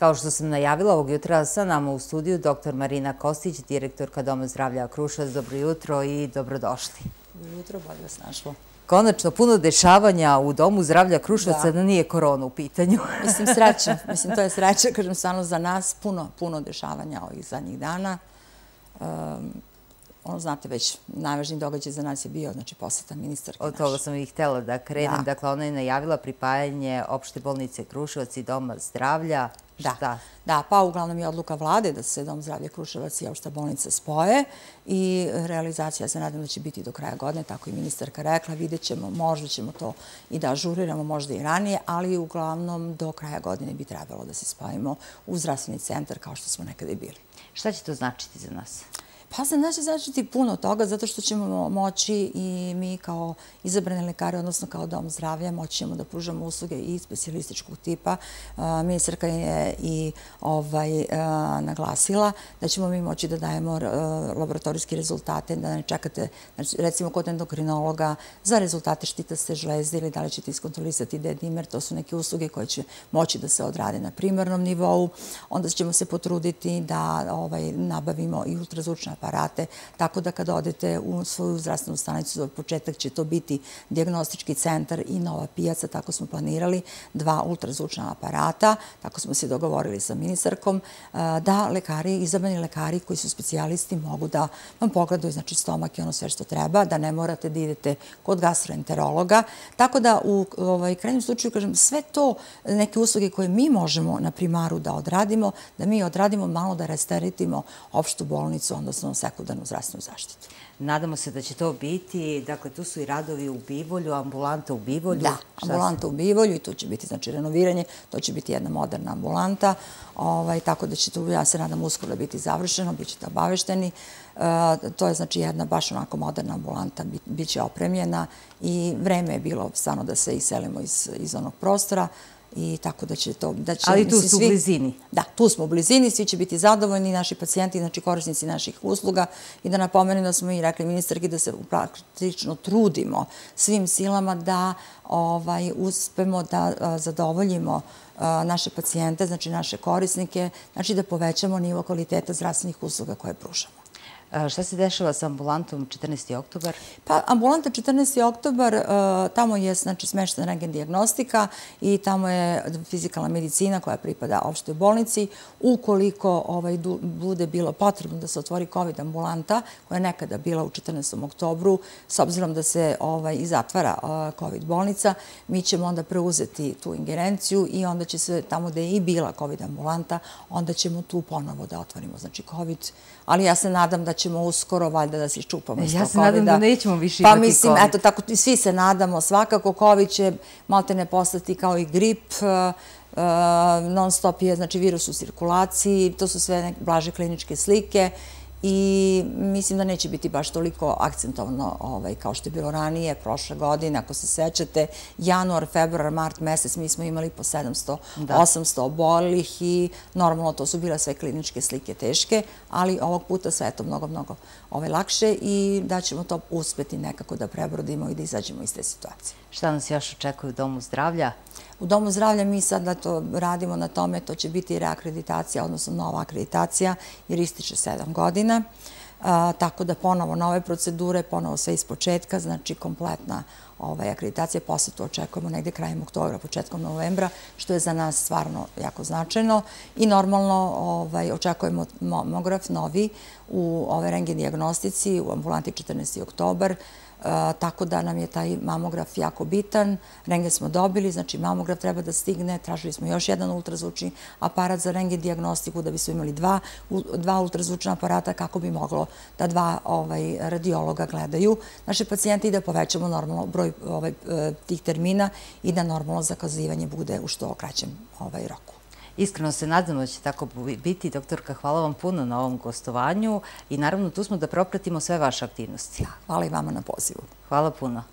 Kao što sam najavila, ovog jutra sa nama u studiju dr. Marina Kostić, direktorka Doma zdravlja Kruševac. Dobro jutro i dobrodošli. Dobro jutro, bolje vas našlo. Konačno, puno dešavanja u Domu zdravlja Kruševca, da nije korona u pitanju. Mislim, sreća. Mislim, to je sreća, kažem, stvarno za nas puno dešavanja ovih zadnjih dana. Znate već, najvažniji događaj za nas je bio, znači, poseta ministarke naše. Od toga sam i htjela da krenem. Dakle, ona je najavila pripajanje opšte bolnice Kruševac i Doma zdravlja. Da, pa uglavnom je odluka vlade da se Dom zdravlja Kruševac i opšta bolnica spoje i realizacija se nadam da će biti do kraja godine, tako i ministarka rekla, vidjet ćemo, možda ćemo to i da ažuriramo, možda i ranije, ali uglavnom do kraja godine bi trebalo da se spojimo u zdravstveni centar kao što smo nekada i bili. Šta će to značiti za nas? Pa za nas će značiti puno toga, zato što ćemo moći i mi kao izabrane lekare, odnosno kao Dom zdravlja, moći ćemo da pružamo usluge i specijalističkog tipa. Ministarka je i naglasila da ćemo mi moći da dajemo laboratorijske rezultate, da ne čekate, recimo kod endokrinologa, za rezultate štitaste žlezde ili da li ćete iskontrolisati D-dimer. To su neke usluge koje će moći da se odrade na primarnom nivou. Onda ćemo se potruditi da nabavimo i ultrazvučne aparate, tako da kada odete u svoju zdravstvenu stanicu, za početak će to biti dijagnostički centar i Nova pijaca, tako smo planirali, 2 ultrazvučna aparata, tako smo se dogovorili sa ministarkom, da lekari, izabrani lekari koji su specijalisti mogu da vam pogledaju, znači, stomak i ono sve što treba, da ne morate da idete kod gastroenterologa, tako da u krajnjem slučaju, kažem, sve to neke usluge koje mi možemo na primaru da odradimo, da mi odradimo malo da rasteretimo opštu bolnicu, odnosno sekundarnu zdravstvenu zaštitu. Nadamo se da će to biti, dakle, tu su i radovi u Bivolju, ambulanta u Bivolju. Da, ambulanta u Bivolju i tu će biti, znači, renoviranje, to će biti jedna moderna ambulanta, tako da će tu, ja se nadam, uskoro biti završeno, bit ćete obavešteni. To je, znači, jedna baš onako moderna ambulanta, bit će opremljena i vreme je bilo stvarno da se iselimo iz onog prostora. I tako da će to... Ali tu su u blizini. Da, tu smo u blizini, svi će biti zadovoljni, naši pacijenti, znači korisnici naših usluga. I da napomenem da smo i rekli ministarki da se praktično trudimo svim silama da uspemo da zadovoljimo naše pacijente, znači naše korisnike, znači da povećamo nivo kvaliteta zdravstvenih usluga koje pružamo. Šta se dešava sa ambulantom 14. oktobar? Pa, ambulanta 14. oktobar, tamo je, znači, smeštena rentgen dijagnostika i tamo je fizikalna medicina koja pripada opštoj bolnici. Ukoliko bude bilo potrebno da se otvori COVID ambulanta, koja je nekada bila u 14. oktobru, s obzirom da se i zatvara COVID bolnica, mi ćemo onda preuzeti tu ingerenciju i onda će se tamo gde je i bila COVID ambulanta, onda ćemo tu ponovo da otvorimo, znači, COVID. Ali ja se nadam da ćemo uskoro valjda da se iščupamo iz tog COVID-a. Ja se nadam da nećemo više imati COVID. Pa mislim, eto, tako svi se nadamo svakako. COVID će malte ne postati kao i grip. Non stop je, znači, virus u cirkulaciji. To su sve blaže kliničke slike. I mislim da neće biti baš toliko akcentovano kao što je bilo ranije, prošle godine, ako se sećate, januar, februar, mart mesec, mi smo imali po 700, 800 obolelih i normalno to su bile sve kliničke slike teške, ali ovog puta sve je to mnogo lakše i da ćemo to uspeti nekako da prebrodimo i da izađemo iz te situacije. Šta nas još očekuje u Domu zdravlja? U Domu zdravlja mi sad radimo na tome, to će biti reakreditacija, odnosno nova akreditacija, jer ističe 7 godina. Tako da ponovo nove procedure, ponovo sve iz početka, znači kompletna akreditacija. Posle to očekujemo negde krajem oktobra, početkom novembra, što je za nas stvarno jako značajno. I normalno očekujemo mamograf novi u rentgen dijagnostici u ambulanti 14. oktobar. Tako da nam je taj mamograf jako bitan. Rentgen smo dobili, znači mamograf treba da stigne. Tražili smo još jedan ultrazvučni aparat za rentgen dijagnostiku da bismo imali dva ultrazvučna aparata kako bi moglo da 2 radiologa gledaju naše pacijente i da povećamo normalno broj tih termina i da normalno zakazivanje bude u što kraćem roku. Iskreno se nadamo da će tako biti. Doktorka, hvala vam puno na ovom gostovanju i naravno tu smo da propratimo sve vaše aktivnosti. Hvala i vama na pozivu. Hvala puno.